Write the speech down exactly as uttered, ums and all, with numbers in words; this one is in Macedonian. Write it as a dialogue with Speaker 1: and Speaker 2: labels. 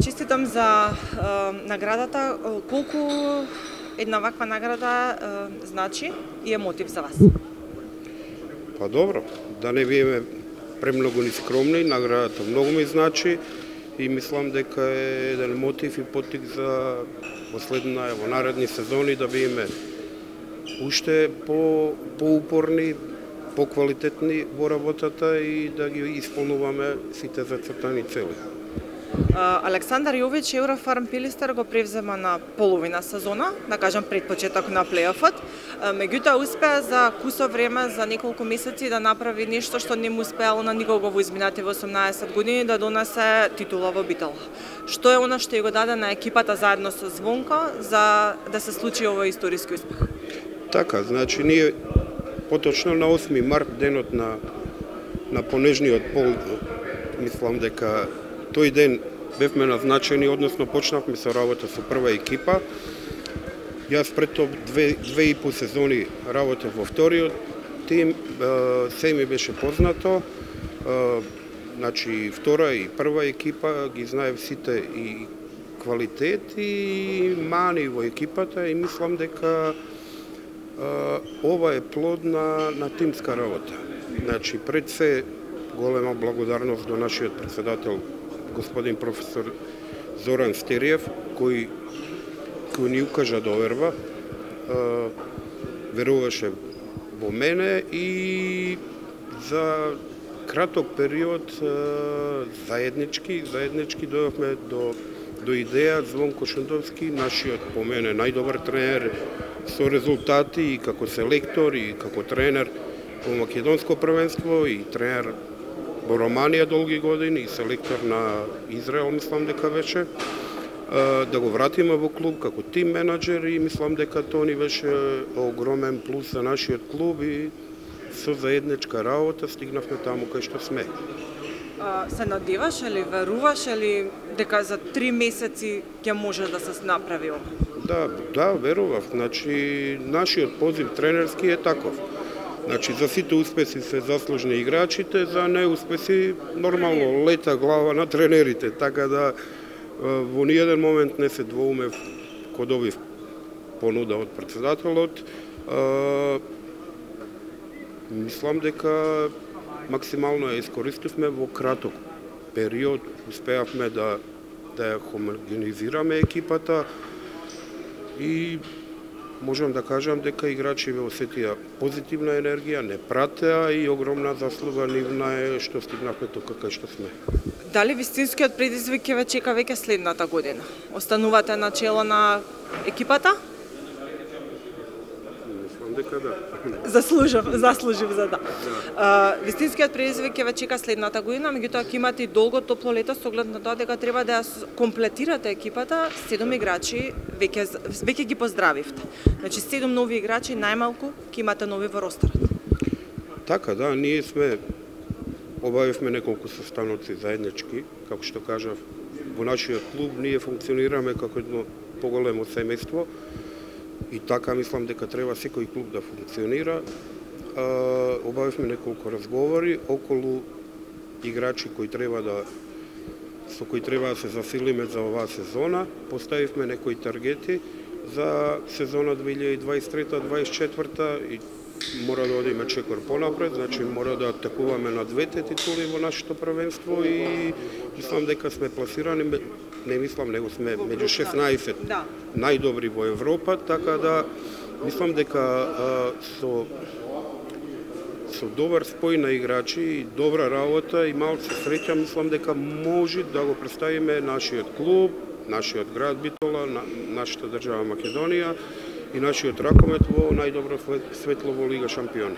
Speaker 1: Честитам за наградата. Колку една ваква награда значи и е мотив за вас?
Speaker 2: Па добро, да не биеме премногу ни скромни, наградата многу ми значи и мислам дека е еден мотив и поттик за последна, во наредни сезони да биеме уште по поупорни, поквалитетни во работата и да ги исполнуваме сите зацртани цели.
Speaker 1: Александар Јович Еврофарм Пилистер го превзема на половина сезона, да кажам пред почеток на плејофот. Меѓутоа успеа за кусо време, за неколку месеци да направи нешто што не му успеало на никого во изминативе осумнаесет години, да донесе титула во Битол. Што е она што ја го даде на екипата заедно со Звонко за да се случи овој историски успех?
Speaker 2: Така, значи ние поточно на осми март, денот на на понежниот пол, мислам дека тој ден бевме назначени, односно почнавме со работа со прва екипа. Јас пред тоа две, две и по сезони работев во вториот тим, се ми беше познато. Значи втора и прва екипа ги знаев сите и квалитет и мани во екипата и мислам дека ова е плод на, на тимска работа. Значи пред се голема благодарност до нашиот председател господин професор Зоран Стериев, кој, кој ни укажа доверба, веруваше во мене и за краток период заеднички, заеднички дојавме до, до идеја Звонко Шендовски, нашиот по мене најдобар тренер со резултати и како селектор и како тренер во македонско првенство и тренер во Романија долги години и селектор на Израел, мислам дека беше, да го вратиме во клуб како тим менаџер и мислам дека тоа ни беше огромен плюс за нашиот клуб и со заедничка работа стигнавме таму кај што сме.
Speaker 1: А, се надеваш или веруваш или дека за три месеци ќе може да се направи ова?
Speaker 2: Да, да, верував. Значи нашиот позив тренерски е таков. Значи, за сите успеси се заслужни играчите, за неуспеси нормално лета глава на тренерите, така да во ниеден момент не се двоумев кога добив понуда од председателот. Мислам дека максимално ја искористивме во краток период, успеавме да да ја хомогенизираме екипата и можам да кажам дека играчите осетија позитивна енергија, не пратеа и огромна заслуга нивна е што стигнавме тука кај што сме.
Speaker 1: Дали вистинскиот предизвик ќе ве чека веќе следната година? Останувате на чело на екипата?
Speaker 2: Мислам дека да.
Speaker 1: Заслужив, заслужив за да. да. Вистинскиот предизвик ќе ве чека следната година, меѓутоа ќе имате и долго топло лето со оглед на тоа дека треба да ја комплетирате екипата, седум играчи веќе веќе ги поздравивте. Значи седум нови играчи најмалку ќе имате нови во ростерот.
Speaker 2: Така да, ние сме обавивме неколку состаноци заеднички, како што кажав, во нашиот клуб ние функционираме како едно поголемо семејство. И така мислам дека треба секој клуб да функционира. Обавивме неколку разговори околу играчи кои треба да со кои треба да се засилиме за оваа сезона. Поставивме некои таргети за сезона две илјади дваесет и трета дваесет и четврта и мора да одиме чекор понапред, значи мора да атакуваме на двете титули во нашето првенство и мислам дека сме пласирани, не мислам, него сме меѓу шеснаесет
Speaker 1: да.
Speaker 2: најдобри во Европа, така да мислам дека а, со со добар спој на играчи и добра работа и малку среќа, мислам дека може да го представиме нашиот клуб, нашиот град Битола, на, нашата држава Македонија и нашиот ракомет во најдобро светло во Лига шампиони.